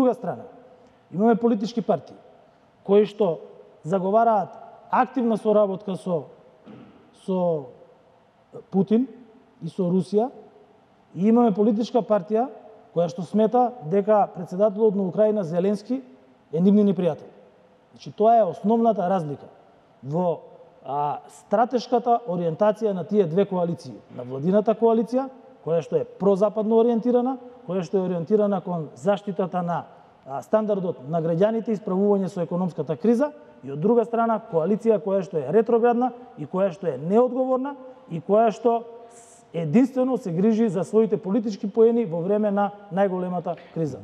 друга страна, имаме политички партии кои што заговараат активна соработка со Путин и со Русија, и имаме политичка партија која што смета дека председателот на Украина Зеленски е нивни непријател. Значи, тоа е основната разлика во стратешката ориентација на тие две коалиции. На владината коалиција, која што е прозападно ориентирана, која што е ориентирана кон заштитата на стандардот на граѓаните и справување со економската криза, и од друга страна коалиција која што е ретроградна и која што е неодговорна и која што единствено се грижи за своите политички поени во време на најголемата криза.